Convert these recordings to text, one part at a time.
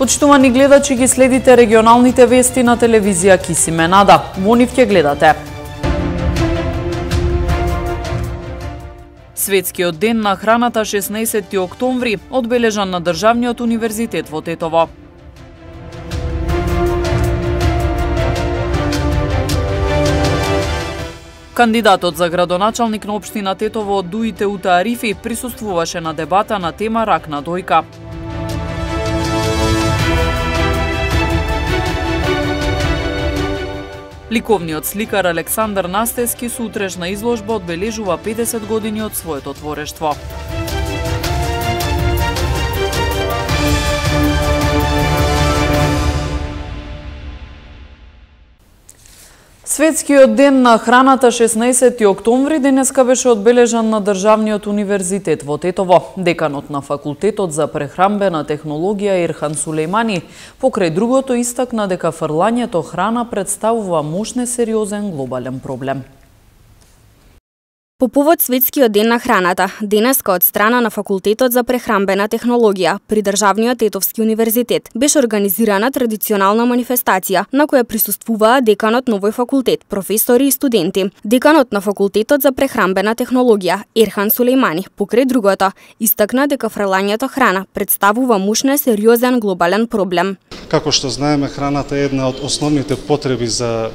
Почитувани гледачи, ги следите регионалните вести на телевизија Кисименада. Во нив ќе гледате. Светскиот ден на храната 16 октомври, одбележан на Државниот универзитет во Тетово. Кандидатот за градоначалник на општина Тетово Дуите Ута Арифи присуствуваше на дебата на тема рак на дојка. Ликовниот сликар Александар Настески сутрешна изложба одбележува 50 години од своето творештво. Светскиот ден на храната 16 октомври денеска беше одбележан на Државниот универзитет во Тетово. Деканот на факултетот за прехранбена технологија Ерхан Сулејмани покрај другото истакна дека фрлањето храна представува мощне сериозен глобален проблем. По повод Светскиот ден на храната, денеска од страна на факултетот за прехранбена технологија при Државниот Тетовски универзитет беше организирана традиционална манифестација на која присуствуваа деканот на овој факултет, професори и студенти. Деканот на факултетот за прехранбена технологија Ерхан Сулејмани покрај другото истакна дека фрлањето храна представува мощен сериозен глобален проблем. Како што знаеме, храната е една од основните потреби за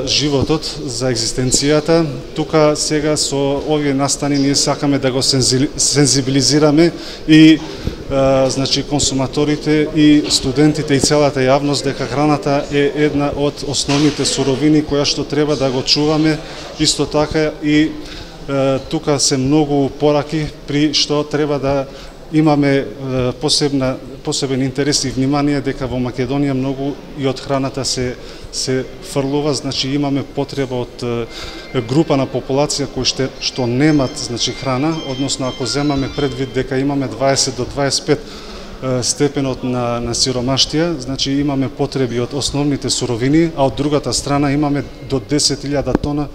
животот, за екзистенцијата. Тука сега со овие настани ние сакаме да го сензибилизираме и значи консуматорите и студентите и целата јавност дека храната е една од основните суровини која што треба да го чуваме. Исто така и тука се многу пораки при што треба да имаме посебен интерес и внимание дека во Македонија многу и од храната се фрлува, значи имаме потреба од група на популација кои што немат значи храна, односно ако земаме предвид дека имаме 20 до 25 степенот на сиромаштија, значи имаме потреби од основните суровини, а од другата страна имаме до 10.000 тона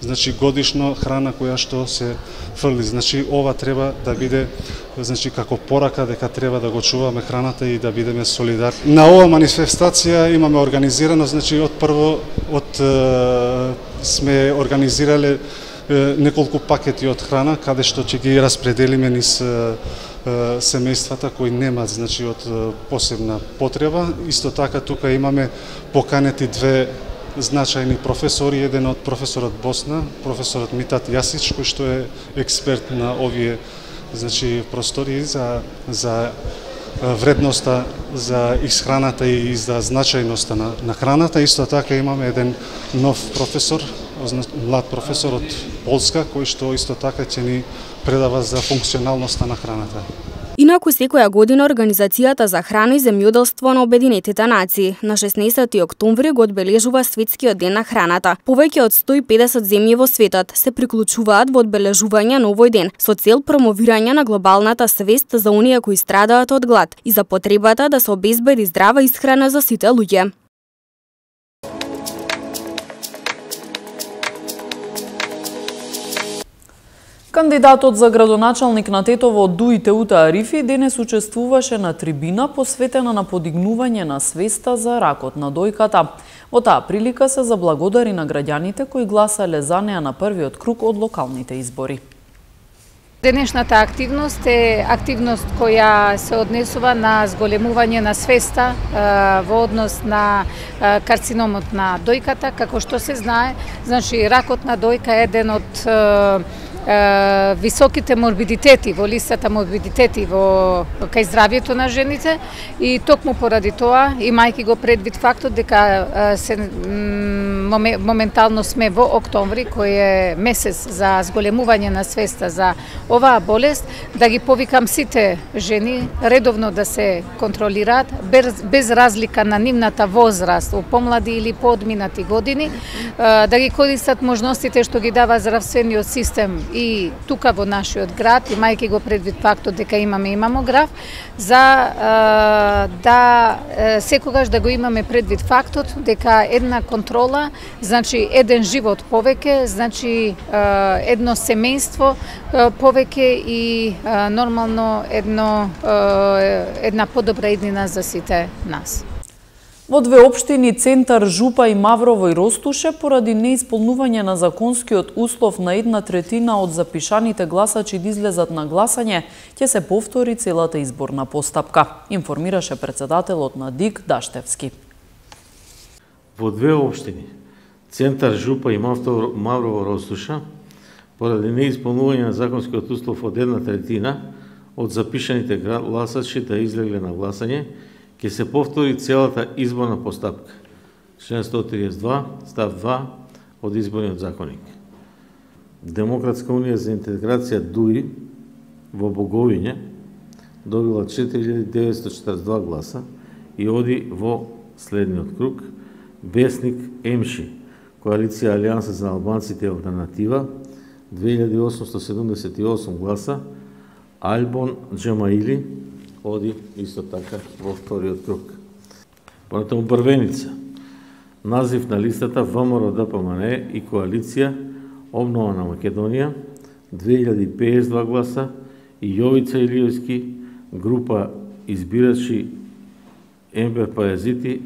значи годишно храна која што се фрли. Значи ова треба да биде значи како порака дека треба да го чуваме храната и да бидеме солидарни. На ова манифестација имаме организирано, значи сме организирале неколку пакети од храна каде што ќе ги распределиме низ семејствата кои немаат значи од посебна потреба. Исто така тука имаме поканети две значајни професори, еден од професорот Босна, професорот Митат Јасич, кој што е експерт на овие значи простори за вредноста за исхраната и за значајноста на храната. Исто така имаме еден нов професор, млад професор од Полска, кој што исто така ќе ни предава за функционалноста на храната. Инаку секоја година Организацијата за храна и земјоделство на Обединетите нации на 16 октомври го одбележува Светскиот ден на храната. Повеќе од 150 земји во светот се приклучуваат во одбележување на овој ден со цел промовирање на глобалната свест за оние кои страдаат од глад и за потребата да се обезбеди здрава исхрана за сите луѓе. Кандидатот за градоначалник на Тетово Дуите Ута Арифи денес учествуваше на трибина посветена на подигнување на свеста за ракот на дојката. Во таа прилика се заблагодари на граѓаните кои гласале за неа на првиот круг од локалните избори. Денешната активност е активност која се однесува на зголемување на свеста во однос на карциномот на дојката. Како што се знае, значи ракот на дојка е еден од високите морбидитети во листата морбидитети кај здравјето на жените и токму поради тоа, имајќи го предвид фактот дека моментално сме во октомври, кој е месец за зголемување на свеста за оваа болест, да ги повикам сите жени редовно да се контролираат без разлика на нивната возраст, помлади или поодминати години, да ги користат можностите што ги дава здравствениот систем и тука во нашиот град, имајќи го предвид фактот дека имаме и мамограф, за да секогаш да го имаме предвид фактот дека една контрола, значи еден живот повеќе, значи едно семејство повеќе и нормално една подобра иднина за сите нас. Во две општини Центар, Жупа и Маврово и Ростуше, поради неисполнување на законскиот услов на 1/3 од запишаните гласачи да излезат на гласање, ќе се повтори целата изборна постапка, информираше председателот на ДИК Даштевски. Во две општини Центар, Жупа и Маврово, Ростуша, поради неисполнување на законскиот услов од 1/3 од запишаните гласачи да излегле на гласање, ќе се повтори целата изборна постапка. Член 132, став 2 од Изборниот законник. Демократска унија за интеграција ДУИ во Боговиње добила 4942 гласа и оди во следниот круг. Весник ЕМШИ, Коалиција Алијанса за албанците и алтернатива, 2878 гласа. Альбон Джемаили оди исто така во вториот круг. Понатаму првеница. Назив на листата ВМРО ДПМН и Коалиција Обнова на Македонија, 2052 гласа, и Јовица Илиевски, група избирачи Ембер Пајазити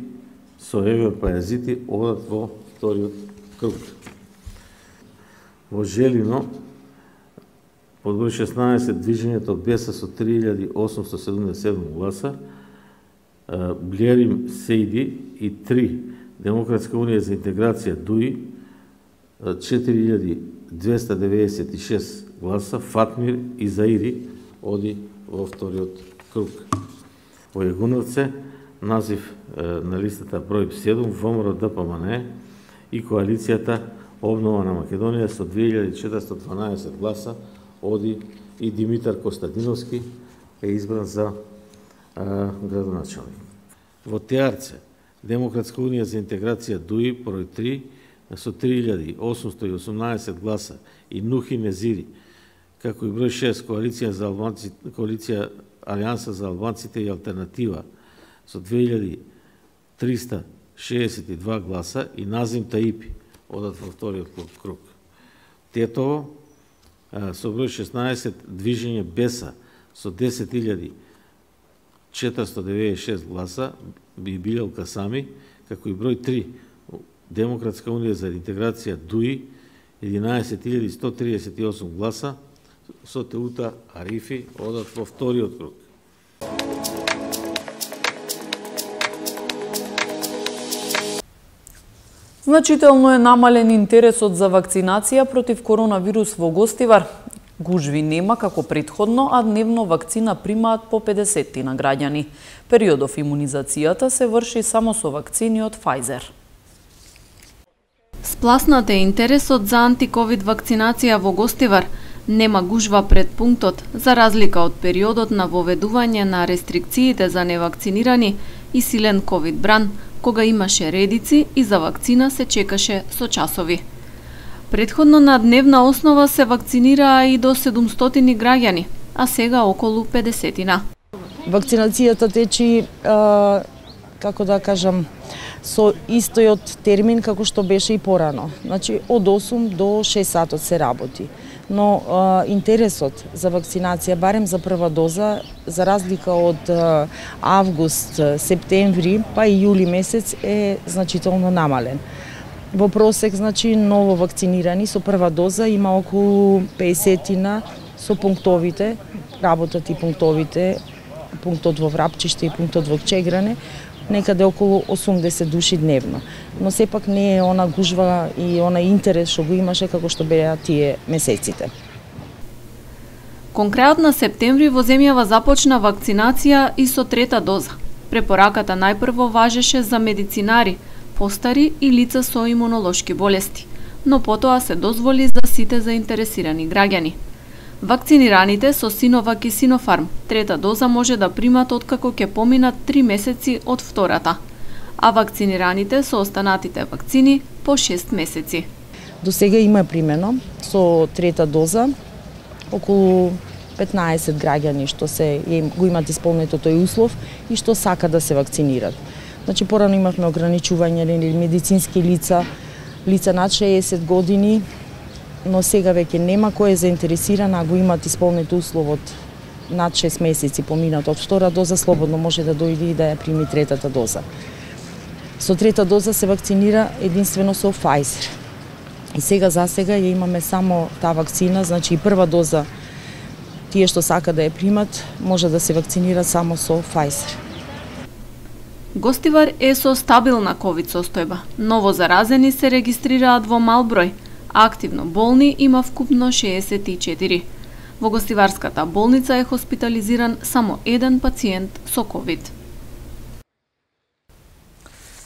со Ембер Пајазити одат во вториот круг. Во Желино, под број 16, движењето Беса со 3877 гласа, Блерим Сейди и 3, Демократска унија за интеграција ДУИ, 4296 гласа, Фатмир и Заири оди во вториот круг. Во Јагуновце, назив на листата број 7, ВМРО ДПМН и Коалицијата Обнова на Македонија со 2412 гласа оди и Димитар Костадиновски е избран за градоначалник. Во Теарце, Демократска унија за интеграција ДУИ број 3 со 3818 гласа и Нухи Незири, како и број 6 Коалиција Алијанса за албанците и алтернатива со 2362 гласа и Назим Таипи одат во вториот круг. Тетово со број 16 движење Беса со 10496 гласа и Билел Касами, како и број 3 Демократска унија за интеграција ДУИ 11138 гласа со Теута Арифи одат во вториот круг. Значително е намален интересот за вакцинација против коронавирус во Гостивар. Гужви нема како претходно, а дневно вакцина примаат по 50 на граѓани. Периодов имунизацијата се врши само со вакцини од Pfizer. Спласнат е интересот за антиковид вакцинација во Гостивар. Нема гужва пред пунктот, за разлика од периодот на воведување на рестрикциите за невакцинирани и силен ковид бран, кога имаше редици и за вакцина се чекаше со часови. Предходно на дневна основа се вакцинираа и до 700 граѓани, а сега околу 50. Вакцинацијата течи, како да кажам, со истојот термин како што беше и порано. Значи, од 8 до 6 сатот се работи. Но интересот за вакцинација, барем за прва доза, за разлика од август, септември, па и јули месец е значително намален. Во просек, значи, ново вакцинирани со прва доза има околу 50 со пунктовите, работат и пунктовите, пунктот во Врапчиште и пунктот во Чегране, некаде околу 80 души дневно. Но сепак не е она гужва и она интерес што го имаше како што беа тие месеците. Кон крајот на септември во земјава започна вакцинација и со трета доза. Препораката најпрво важеше за медицинари, постари и лица со имунолошки болести, но потоа се дозволи за сите заинтересирани граѓани. Вакцинираните со Синовак и Синофарм трета доза може да примат откако ќе поминат 3 месеци од втората, а вакцинираните со останатите вакцини по 6 месеци. До сега има примено со трета доза, околу 15 граѓани што го имат исполнето тој услов и што сака да се вакцинират. Значи, порано имавме ограничување или медицински лица над 60 години, но сега веќе нема кој е заинтересиран, а го имат исполнето условот над 6 месеци поминат од втора доза, слободно може да дојде и да ја прими третата доза. Со трета доза се вакцинира единствено со Pfizer. И сега за сега ја имаме само таа вакцина, значи и прва доза тие што сака да ја примат може да се вакцинира само со Pfizer. Гостивар е со стабилна ковид состојба. Ново заразени се регистрираат во мал број, а активно болни има вкупно 64. Во гостиварската болница е хоспитализиран само еден пациент со ковид.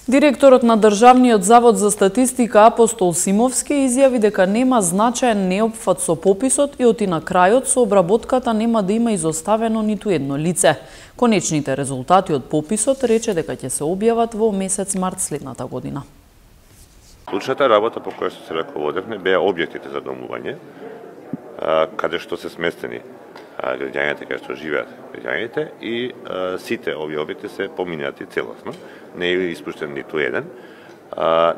Директорот на Државниот завод за статистика Апостол Симовски изјави дека нема значаен неопфат со пописот и оти на крајот со обработката нема да има изоставено ниту едно лице. Конечните резултати од пописот рече дека ќе се објават во месец март следната година. Клучната работа по која се раководевме беа објектите за домување, каде што се сместени граѓаните, каде што живеат граѓаните и сите овие објекти се поминати целосно. Не е испуштен ниту еден.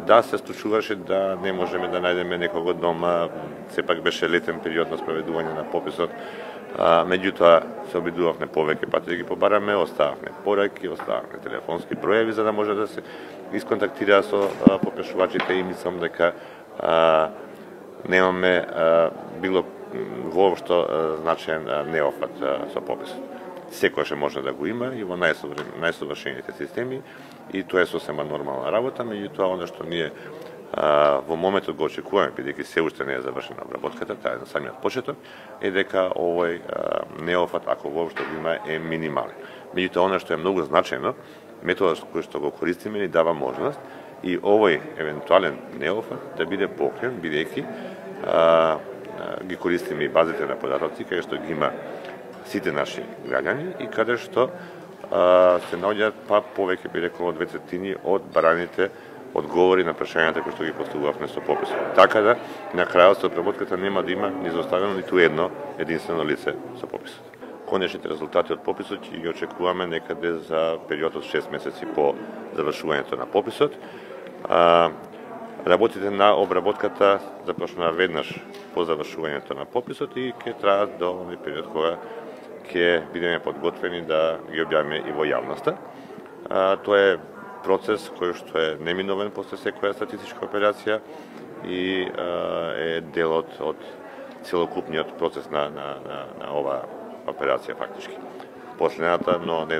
Да, се случуваше да не можеме да најдеме некого дома, сепак беше летен период на спроведување на пописот, меѓутоа се обидувавме повеќе пати да ги побараме, остававме пораки, остававме телефонски броеви за да може да се исконтактира со попишувачите и мислам дека немаме било воопшто значаен неофат со пописот. Секојаш може да го има и во најсовршените системи и тоа е сосема нормална работа, меѓутоа оно што ние во моментот го очекуваме, бидејќи се уште не е завршена обработката, таа е на самиот почеток, е дека овој неофат, ако воопшто го има, е минимален. Меѓутоа оно што е многу значајно, методот кој што го користиме ни дава можност и овој евентуален неофат да биде покрен, бидејќи ги користиме и базите на податоци, каде што ги има сите наши граѓани и каде што се наоѓаат повеќе би рекол од 2/3 од бараните одговори на прашањата кои што ги поставувавме со пописот. Така да на крајот со обработката нема да има ни изоставено ниту едно единствено лице со пописот. Конечните резултати од пописот ќе ги очекуваме некаде за период од 6 месеци по завршувањето на пописот. Работите на обработката започнаа веднаш по завршувањето на пописот и ќе траат до овој период кога ќе бидеме подготвени да ги објавиме и во јавноста. Тоа е процес кој што е неминовен после секоја статистичка операција и е дел од целокупниот процес на оваа операција фактички. Последната, но не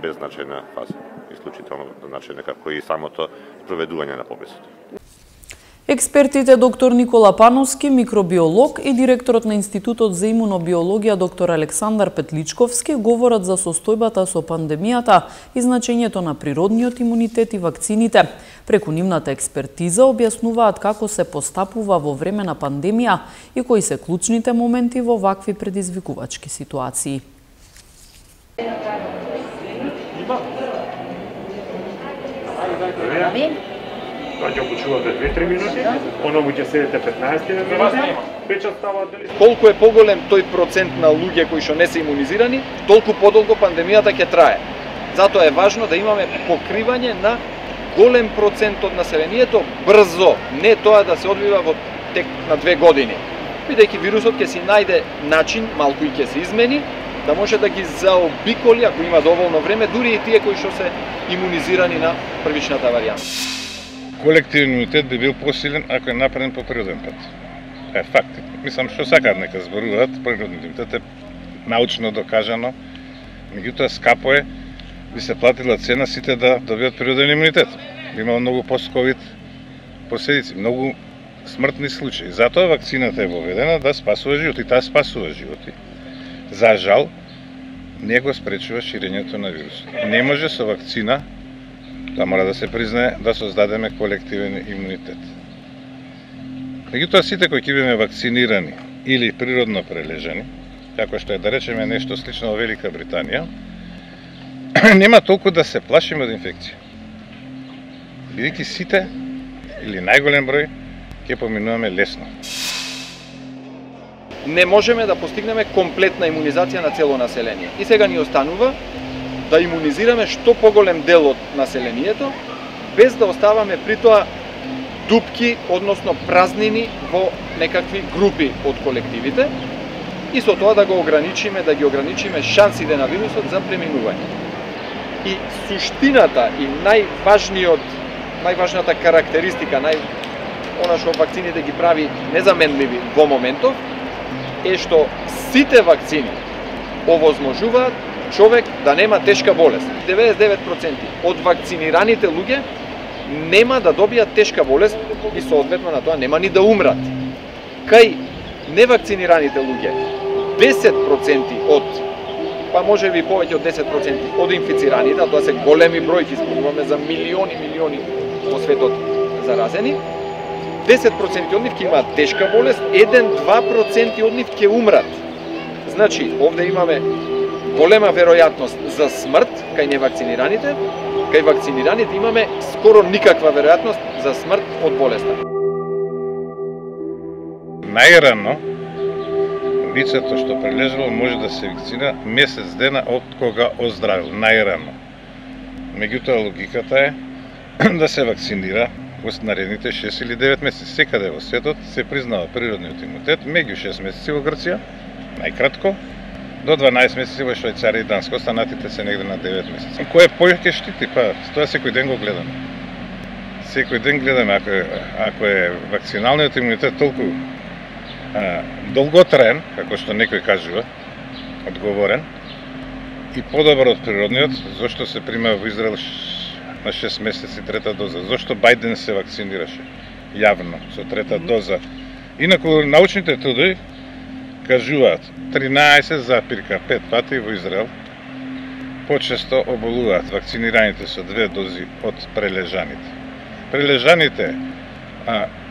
беззначајна фаза, исклучително значајна како и самото спроведување на пописот. Експертите доктор Никола Пановски, микробиолог, и директорот на Институтот за имунобиологија доктор Александар Петличковски говорат за состојбата со пандемијата и значењето на природниот имунитет и вакцините. Преку нивната експертиза објаснуваат како се постапува во време на пандемија и кои се клучните моменти во вакви предизвикувачки ситуации. Ќе почувате 2-3 минути, оно ќе седите 15 минути, печат става дали... Колку е поголем тој процент на луѓе кои што не се имунизирани, толку подолго пандемијата ќе трае. Затоа е важно да имаме покривање на голем процент од населението брзо, не тоа да се одвива во тек на 2 години. Бидејќи вирусот ќе си најде начин, малку и ќе се измени, да може да ги заобиколи, ако има доволно време, дури и тие кои што се имунизирани на првичната варијанта. Колективен имунитет би бил посилен ако е направен по природен пат. Е факт. Мислам што сакаат нека зборуваат, природен имунитет е научно докажано, меѓутоа скапо е, би се платила цена сите да добијат природен имунитет. Имало многу пост-ковид последици, многу смртни случаи. Затоа вакцината е воведена да спасува животи, таа спасува животи. За жал, не го спречува ширењето на вирусот. Не може со вакцина, да мора да се признае, да создадеме колективен имунитет. Меѓутоа сите кои ќе бидеме вакцинирани или природно прележани, како што е да речеме нешто слично во Велика Британија, нема толку да се плашиме од инфекција. Бидејќи сите, или најголем број, ќе ќе поминуваме лесно. Не можеме да постигнеме комплетна имунизација на цело население. И сега ни останува да имунизираме што поголем дел од населението, без да оставаме при тоа дупки, односно празнини во некакви групи од колективите, и со тоа да ги ограничиме шансите на вирусот за преминување. И суштината и најважната карактеристика, она што вакцините ги прави незаменливи во моментов, е што сите вакцини овозможуваат човек да нема тешка болест. 99% од вакцинираните луѓе нема да добијат тешка болест и соодветно на тоа нема ни да умрат. Кај невакцинираните луѓе 10% па може би повеќе од 10% од инфицираните, а тоа се големи бројки, зборуваме за милиони во светот заразени, 10% од нив ќе имаат тешка болест, 1-2% од нив ќе умрат. Значи, овде имаме голема веројатност за смрт кај невакцинираните, кај вакцинираните имаме скоро никаква веројатност за смрт од болеста. Најрано лицето што прележало може да се вакцинира месец дена од кога оздравил, најрано. Меѓутоа логиката е да се вакцинира во наредните 6 или 9 месеци. Секаде во светот се признава природниот имунитет меѓу 6 месеци во Грција, најкратко, до 12 месеци во Швајцарија и Данска, останатите се негде на 9 месеци. Кој повеќе штити? Па, тоа секој ден го гледаме. Секој ден гледаме, ако е вакциналниот имунитет толку долготраен, како што некој кажува, одговорен, и подобар од природниот, зошто се прима во Израел на 6 месеци трета доза? Зошто Бајден се вакцинираше јавно со трета доза? Инаку научните трудови кажуваат 13,5 пати во Израел почесто оболуваат вакцинираните со 2 дози од прележаните. Прележаните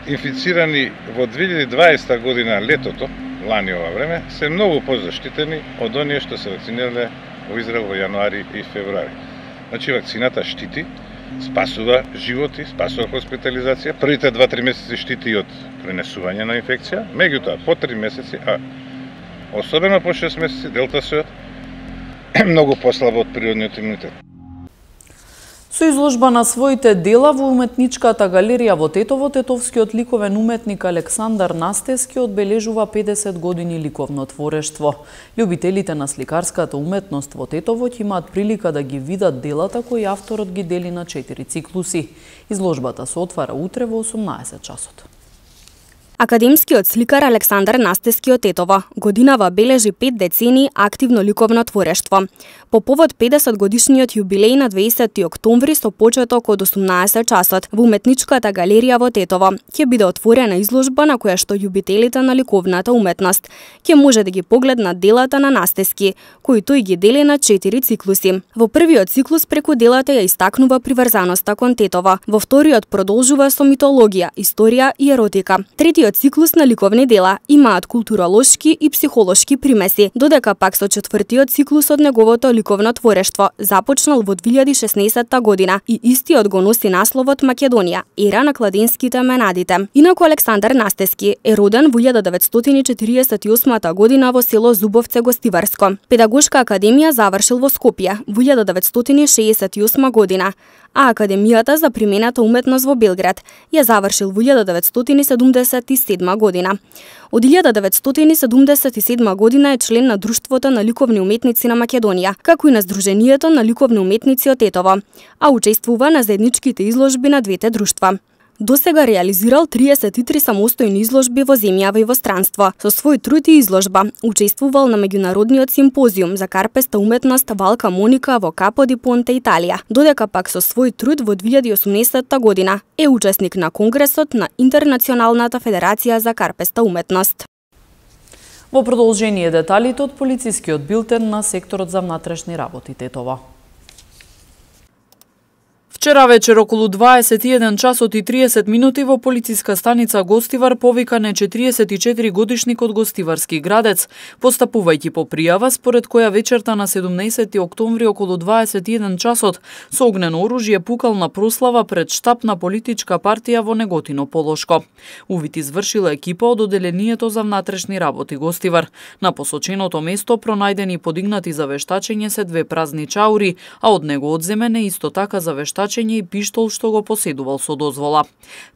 инфицирани во 2020 година летото, лани ова време, се многу позаштитени од оние што се вакцинирале во Израел во јануари и февруари. Значи вакцината штити, спасува животи, спасува хоспитализација. Првите 2-3 месеци штити и од пренесување на инфекција, меѓутоа по 3 месеци, особено по 6 месеци, делтасот е многу послабо од природниот имунитет. Со изложба на своите дела во уметничката галерија во Тетово, тетовскиот ликовен уметник Александар Настески одбележува 50 години ликовно творештво. Љубителите на сликарската уметност во Тетово ќе имаат прилика да ги видат делата кои авторот ги дели на 4 циклуси. Изложбата се отвара утре во 18 часот. Академскиот сликар Александар Настески од Тетово годинава бележи 5 децении активно ликовно творештво. По повод 50 годишниот јубилеј на 20 октомври со почеток од 18 часот во уметничката галерија во Тетово ќе биде отворена изложба на која што љубителите на ликовната уметност ќе може да ги погледнат делата на Настески, кои тој ги дели на 4 циклуси. Во првиот циклус преку делата ја истакнува приврзаноста кон Тетово, во вториот продолжува со митологија, историја и еротика. Третиот циклус на ликовни дела имаат културолошки и психолошки примеси, додека пак со четвртиот циклус од неговото ликовно творештво започнал во 2016 година и истиот го носи насловот Македонија, ера на кладенските менадите. Инаку Александар Настески е роден во 1948 година во село Зубовце, Гостиварско. Педагошка академија завршил во Скопје во 1968 година, а Академијата за примената уметност во Белград ја завршил во 1977 година. Од 1977 година е член на Друштвото на ликовни уметници на Македонија, како и на Сдруженијето на ликовни уметници од Тетово, а учествува на заедничките изложби на двете друштва. Досега реализирал 33 самостојни изложби во земјава и во странство. Со свој труд и изложба учествувал на меѓународниот симпозиум за карпеста уметност Валка Моника во Капо ди Понте, Италија, додека пак со свој труд во 2018 година е учесник на Конгресот на Интернационалната федерација за карпеста уметност. Во продолжение деталите од полицискиот билтен на секторот за внатрешни работи Тетово. Вчера вечер околу 21 часот и 30 минути во полициска станица Гостивар повикан е 44 годишник од Гостиварски Градец, постапувајќи по пријава според која вечерта на 17 октомври околу 21 часот со огнено оружје пукал на прослава пред штаб на политичка партија во Неготино Полошко. Увид извршила екипа од одделението за внатрешни работи Гостивар. На посоченото место пронајдени и подигнати за вештачење се 2 празни чаури, а од него одземен е исто така за вештачење и пиштол што го поседувал со дозвола.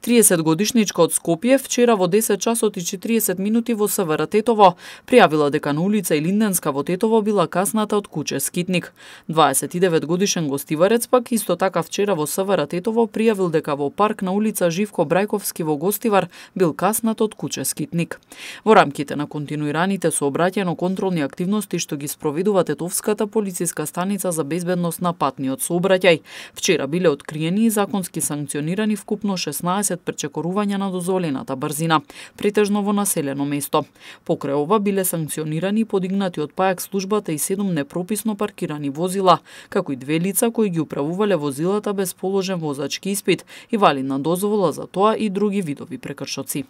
30 годишничка од Скопје вчера во 10 часот и 40 минути во СВР Тетово пријавила дека на улица Илинденска во Тетово била касната од куче скитник. 29 годишен гостиварец пак исто така вчера во СВР Тетово пријавил дека во парк на улица Живко Брајковски во Гостивар бил каснат од куче скитник. Во рамките на континуираните сообраќајно-контролни активности што ги спроведува Тетовската полициска станица за безбедност на патниот сообраќај, вчера биле откриени и законски санкционирани вкупно 16 пречекорувања на дозволената брзина, претежно во населено место. Покрај ова биле санкционирани и подигнати од ПАЕК службата и 7 непрописно паркирани возила, како и 2 лица кои ги управувале возилата без положен возачки испит и валидна дозвола за тоа и други видови прекршоци.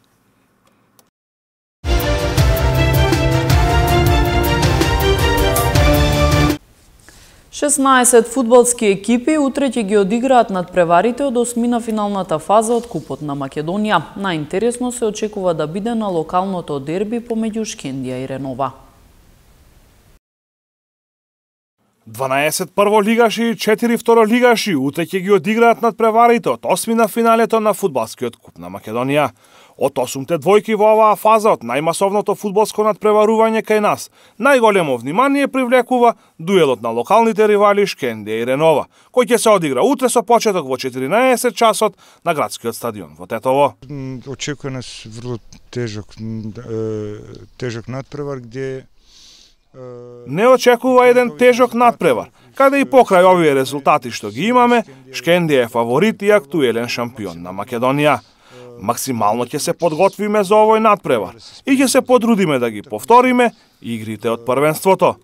Шеснаесет фудбалски екипи утре ќе ги одиграат надпреварите од осмина финалната фаза од Купот на Македонија. Најинтересно се очекува да биде на локалното дерби помеѓу Шкендија и Ренова. 12 прволигаши и 4 второлигаши утре ќе ги одиграат надпреварите од осмина финалето на фудбалскиот Куп на Македонија. Од 8-те двојки во оваа фаза од најмасовното фудбалско надпреварување кај нас, најголемо внимание привлекува дуелот на локалните ривали Шкендија и Ренова, кој ќе се одигра утре со почеток во 14 часот на градскиот стадион во Тетово. Очекува нас врло тежок надпревар где не очекува еден тежок надпревар, каде и покрај овие резултати што ги имаме, Шкендија е фаворит и актуелен шампион на Македонија. Максимално ќе се подготвиме за овој надпревар и ќе се потрудиме да ги повториме игрите од првенството.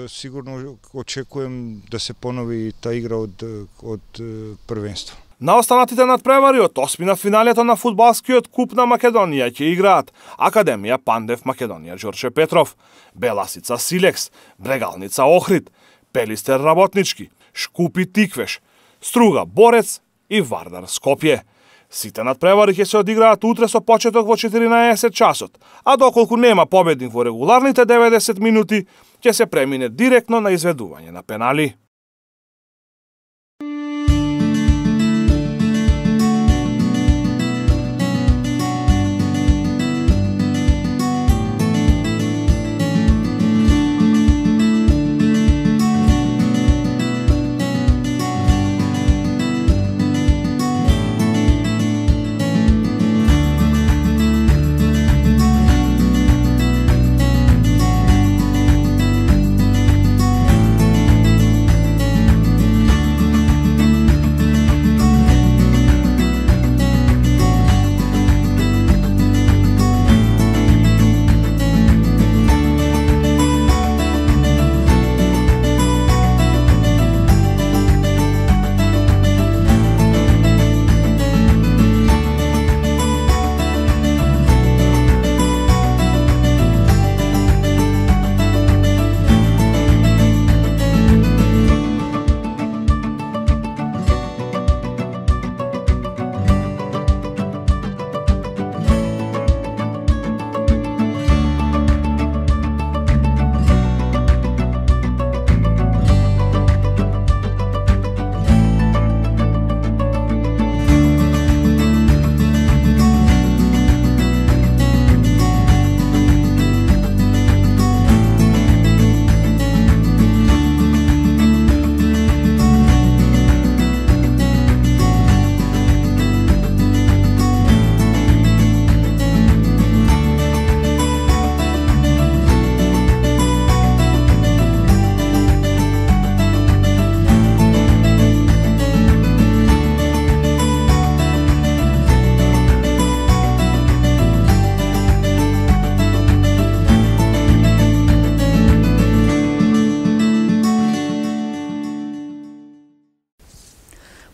Сигурно очекувам да се понови та игра од првенство. На останатите надпревари од осмина финалето на фудбалскиот Куп на Македонија ќе играат Академија Пандев Македонија Ѓорче Петров, Беласица Силекс, Брегалница Охрид, Пелистер Работнички, Шкупи Тиквеш, Струга Борец и Вардар Скопје. Сите надпревари ќе се одиграат утре со почеток во 14 часот, а доколку нема победник во регуларните 90 минути, ќе се премине директно на изведување на пенали.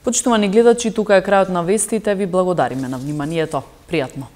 Почитувани гледачи, тука е крајот на вестите. Ви благодариме на вниманието. Пријатно.